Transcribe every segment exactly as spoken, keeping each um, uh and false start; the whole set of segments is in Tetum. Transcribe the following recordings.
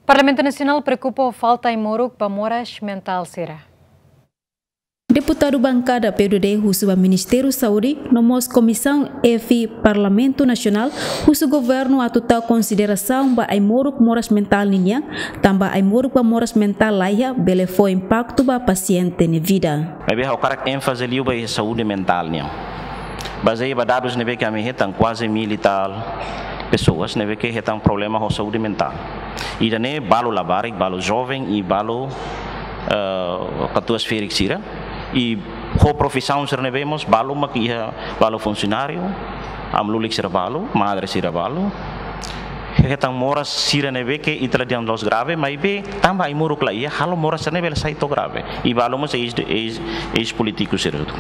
Parlamentu Nasionál preokupa ho falta ai-moruk ba moras mentál sira. Deputadu bankada P U D D husu ba Ministériu Saúde, no mós Komisaun F Parlamentu Nasionál, husu governu atu tau konsiderasaun ba ai-moruk moras mentál ninian, tanba ai-moruk ba moras mentál laiha bele fó impaktu ba pasiente nia vida. Maibé ha'u hakarak énfaze liu ba iha saúde mentál nian. Bazeia ba dadus ne'ebé ke ami hetan, kuaze mil e tal pesoas ne'ebé ke hetan problema ho saúde mentál. Ida-ne'e balu labarik, balu joven i balu, eh, katuas-ferik sira. I ho profisaun sira ne'ebé mós balu mak iha, balu funsionáriu, amlulik sira balu, madre sira balu. Hetan moras sira ne'ebé ke ita la dehan la'ós grave, maibé tanba ai-moruk la iha, halo moras sira ne'e bele sai to'o grave. I balu mós eis, eis, eis polítiku sira hotu.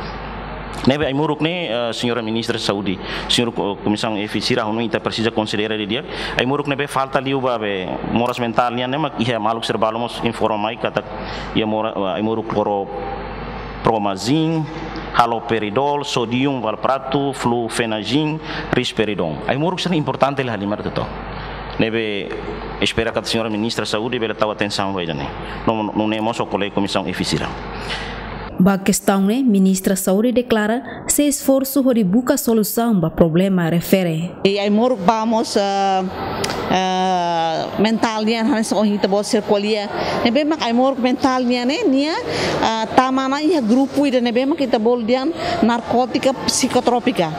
Ne'ebé ai-moruk ne'e, eh, señora Ministra Saúde, señór ko-, Komisaun F sira, ha'u hanoin ita presiza konsidera didi'ak. Ai-moruk ne'ebé falta liu ba be moras mentál nian ne'e mak iha maluk sira balu mós informa mai katak iha mora-, ai-moruk kloro promazin, haloperidol, sodium valproato, flufenazine, risperidon. Ai-moruk sira importante la halimar teto. Ne'ebé espera katak señora Ministra Saúde bele tau atensaun ba ida-ne'e. No, no, nune'e mós ho kolega Komisaun F sira. Ba kestaun ne'e, Ministra Saúde deklara sei esforsu hodi buka solusaun ba problema refere. I ai-moruk ba mós, eh, eh, mentál nian hanesan ohin ita-boot sira ko'alia. Ne'ebé mak ai-moruk mentál nian ne'e, nia, eh, tama ona iha grupu ida ne'ebé mak ita bolu dehan narkótika psikotrópika.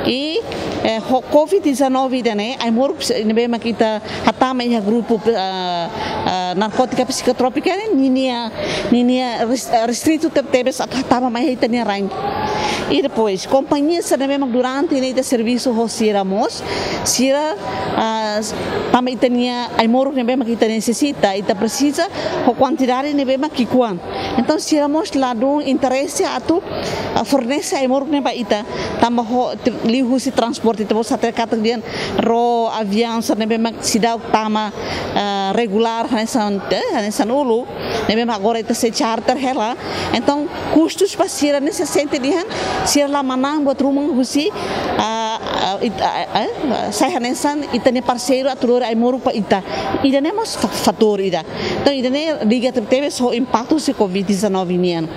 I, eh, ho covid dezanove ida-ne'e, ai-moruk psi-, ne'ebé mak ita hatama iha grupu, eh, eh, narkótika psikotrópika ne'e, ninia, ninia res-, eh, restritu tebetebes atu hatama mai iha ita-nia rain. I depois, kompañia sira ne'ebé mak durante ne'e ita servisu ho sira mós, sira, ah, s-, tanba ita-nia ai-moruk ne'ebé mak ita nesesita, ita presiza ho kuantidade ne'ebé mak ki'ikoan. Entaun, sira mós ladún interese atu, ah, fornese ai-moruk ne'e ba ita, tanba ho, te-, liuhusi transporte, ita-boot sira hatene katak dehan ró, aviaun sira ne'ebé mak seidauk tama, ah, regulár, hanesan, eh, hanesan uluk, ne'ebé mak agora ita sei charter hela. Entaun, kustus ba sira ne'e sei sente dehan, sira la manán buat ruma husi, ah, ah, it-, ah, ah, sai hanesan ita-nia parseiru atu lori ai-moruk ba ita. Ida-ne'e mós fa-, fatór ida. Entaun, ida-ne'e liga tebetebes ho impaktu husi covid dezanove nian.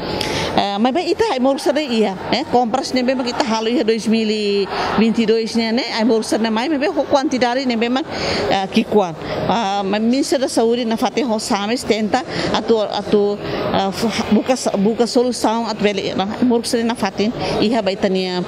Eh, maibé ita ai-moruk sira iha, eh, kompras ne'ebé mak ita halo iha dois mil e vinte e dois nian ne'e, ai-moruk sira mai, maibé ho kuantidade ne'ebé mak, eh, ki'ikoan. Ah, maibé Ministra da Saúde nafatin ho SAMES tenta atu, atu, ah, f-, buka sa-, buka solusaun atu bele, ah, ai-moruk sira nafatin iha ba ita-nia,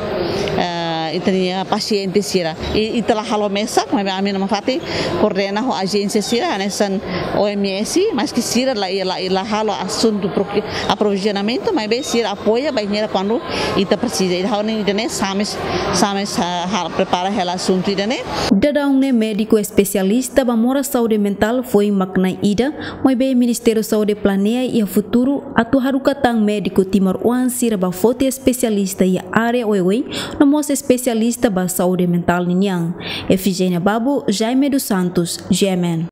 ah, ita-nia pasiente sira. I, ita la halo mesak, maibé ami nafatin koordena ho ajénsia sira, hanesan O M S, maske sira la, la, la halo asuntu proki-, aprovizionamentu, maibé sira apoia bainhira kuandu ita presiza. Ida ha'u hanoin ida-ne'e SAMES, SAMES, ah, hal prepara hela asuntu ida-ne'e. Daudaun ne'e médiku espesialista ba moras saúde mentál foin mak na'in ida, maibé Ministériu Saúde planeia iha futuru atu haruka tan médiku timoroan sira ba foti espesialista iha área oioin, no mós espesialista ba saúde mentál ninian. Efigénia Babo, Jaime dos Santos, G M N.